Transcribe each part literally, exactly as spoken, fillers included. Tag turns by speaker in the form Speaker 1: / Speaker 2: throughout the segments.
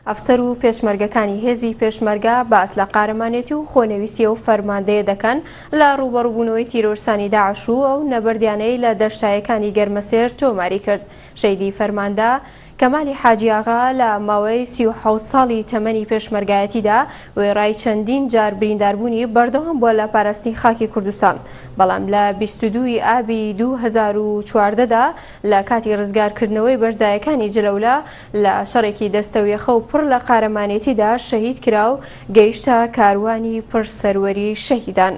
Speaker 1: ئەفسەر و پێشمەرگەکانی هێزی پێشمەرگە باس لە قارەمانێتی و خۆنەویستی و فەرماندەیە دەکەن لە ڕووبەڕووبوونەوەی تیرۆرستانی داعش و ئەو نەبەردیانەی لە دەشتایەکانی گەرمەسێر تۆماری کرد. شەهیدی فەرماندە کەمالی حاجی ئاغا لە ماوەی سی و حەوت ساڵی تەمەنی پێشمەرگایەتیدا وێڕای چەندین جار برینداربوونی بەردەوام بووە لە پاراستنی خاکی کوردستان، بەڵام لە بیست و دووی ئابی دوو هەزار و چواردەدا لە کاتی ڕزگارکردنەوەی بەرزایەکانی جلەولا لە شەڕێکی دەستەویەخە و پڕ لە قارەمانێتیدا شەهید کرا و گەیشتە کاروانی پڕ سەروەری شەهیدان.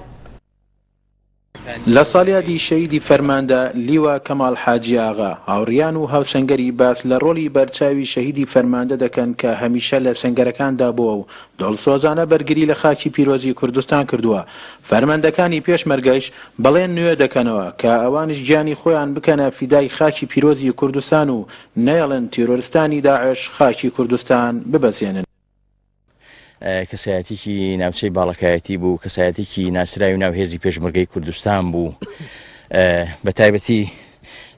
Speaker 2: لە ساڵیادی شەهیدی فەرماندە لیوا کەمال حاجی ئاغا، هاوڕیان و هاوسەنگەری باس لە ڕۆڵی بەرچاوی شەهیدی فەرماندە دەکەن کە هەمیشە لە سەنگەرەکاندا بووە و دڵسۆزانە بەرگری لە خاکی پیرۆزی کوردستان کردووە. فەرماندەکانی پێشمەرگەش بەڵێن نوێ دەکەنەوە کە ئەوانش گیانی خۆیان بکەنە فیدای خاکی پیرۆزی کوردستان و نەیەڵن تیرۆرستانی داعش خاکی کوردستان ببەزێنن.
Speaker 3: کەسایەتێکی ناوچەی باڵەکایەتی بوو، کەسایەتێکی ناسراوی ناو هێزی پێشمەرگەی کوردستان بوو، بە تایبەتی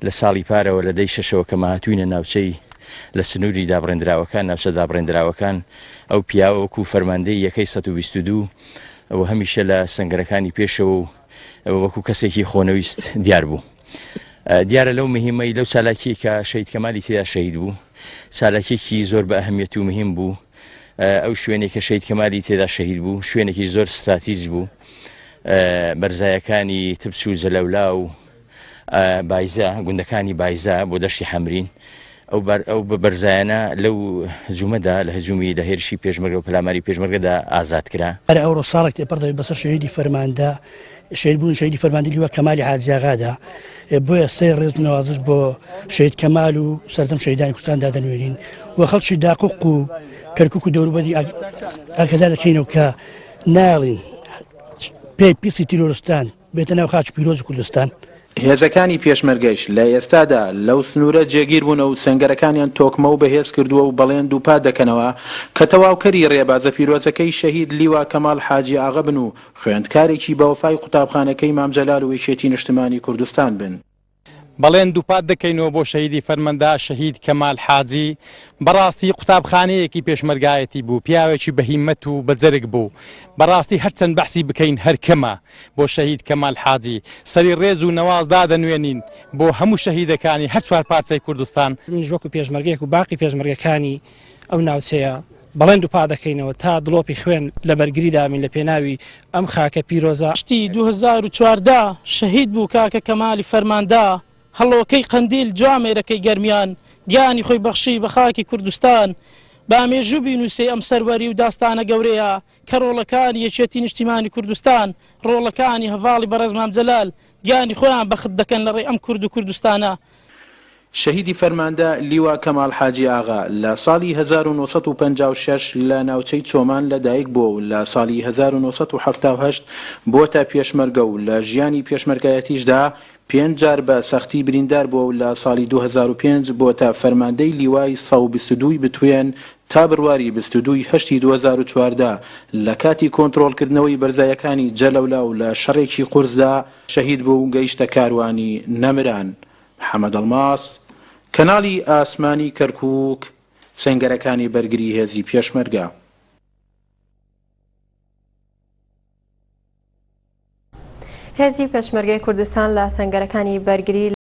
Speaker 3: لە ساڵی پارەوە لە دەی شەشەوە کە ماهاتوینە ناوچەی لە سنووری دابڕێندراوەکان، ناوچە دابڕێندراوەکان، ئەو پیاوە وەکو فەرماندەی یەکەی سەد و بیست و دوو و هەمیشە لە سەنگەرەکانی پێشەوە و وەکو کەسێکی خۆنەویست دیار بوو. دیارە لەو مهمەی لەو چالاکیە کە شەهید کەمالی تێدا شەهید بوو، چالاکیەکی زۆر بە ئەهمیەت و مهم بوو. ئەو شوێنێک کە شەهید کەمالی تێدا شەهید بوو شوێنێکی زۆر ستراتیژ بوو، بەرزایەکانی تبس و جەلەولا و بایزە، گوندەکانی بایزە بۆ دەشتی حەمرین. ئەو بەرزایانە لەو هجوومەدا لە هجوومی لە هێرشی پێشمەرگە و پەلاماری پێشمەرگەدا ئازاد کرا.
Speaker 4: هەر ئەوڕۆ ساڵێک تێپەڕ دەبێت بەسەر شەهیدی فەرماندە، شەهید بوون شەهیدی فەرماندە لیوا کەمالی حاجی ئاغادا، بۆیە سێ ڕێز و نەوازش بۆ شەهید کەمال و سەرجەم شەهیدانی کوردستان دادەنوێنین و خەڵکی داقوق و کەرکوک و دەوروبەری ئاگادار دەکەینەوە کە ناڵین پێی پیسی تیرۆرستان بێتە ناو خاکی پیرۆزی کوردستان.
Speaker 2: هێزەکانی پێشمەرگەش لە ئێستادا لەو سنوورە جێگیر بوون و سەنگەرەکانیان تۆکمە و بەهێز کردووە و بەڵێن دووپات دەکەنەوە کە تەواوکەری ڕێبازە پیرۆزەکەی شەهید لیوا کەمال حاجی ئاغا بن و خوێندکارێکی بەوەفای قوتابخانەکەی مام جەلال و یەکێتی نیشتمانی کوردستان بن.
Speaker 5: بەڵێن دووپات دەکەینەوە بۆ شەهیدی فەرمەندە شەهید کەمال حاجی، بەڕاستی قوتابخانەیەکی پێشمەرگایەتی بوو، پیاوێکی بەهیمەت و بەجەرگ بوو. بەڕاستی هەرچەند بەحسی بکەین هەر کەمە بۆ شەهید کەمال حاجی. سەری ڕێز و نەواز دادەنوێنین بۆ هەموو شەهیدەکانی هەر چوار پارچەی کوردستان.
Speaker 6: منیش وەکو پێشمەرگەیەک و باقی پێشمەرگەکانی ئەو ناوچەیە بەڵێن دووپات دەکەینەوە تا دڵۆپی خوێن لە بەرگری دامین لە پێناوی ئەم خاکە پیرۆزە.
Speaker 7: شتی دوو هەزار و چواردە شەهید بوو کاکە کەمالی فەرماندە، هەڵۆکەی قەندیل جوامێرەکەی گەرمیان، گیانی خۆی بەخشی بە خاکی کوردستان. با مێژوو بینووسێ ئەم سەروەری و داستانە گەورەیە کە ڕۆڵەکانی یەکێتی نیشتیمانی کوردستان، ڕۆڵەکانی هەڤاڵی بەڕێز مام جەلال گیانی خۆیان بەخت دەکەن لە ڕێی ئەم کورد و کوردستانە.
Speaker 2: شەهیدی فەرماندە لیوا کەمال حاجی ئاغا لە ساڵی هەزار و نۆ سەد و پەنجا و شەش لە ناوچەی چۆمان لەدایک بووە و لە ساڵی هەزار و نۆ سەد و حەفتا و هەشت بۆتە پێشمەرگە و لە ژیانی پێشمەرگایەتیشدا پێنج جار بە سەختی بریندار بووە و لە ساڵی دوو هەزار و پێنج بۆتە فەرماندەی لیوای سەد و بیست و دووی بتوێن تا بڕواری بیست و دووی هەشتی دوو هەزار و چواردە لە کاتی کۆنترۆڵکردنەوەی بەرزایەکانی جەلەولا و لە شەڕێکی قورسدا شەهید بوو و گەیشتە کاروانی نەمران. محەممەد ئەڵماس، کەناڵی ئاسمانی کەرکوک، سەنگەرەکانی بەرگری هێزی پێشمەرگە.
Speaker 1: هێزی پێشمەرگەی کوردستان لە سەنگەرەکانی بەرگری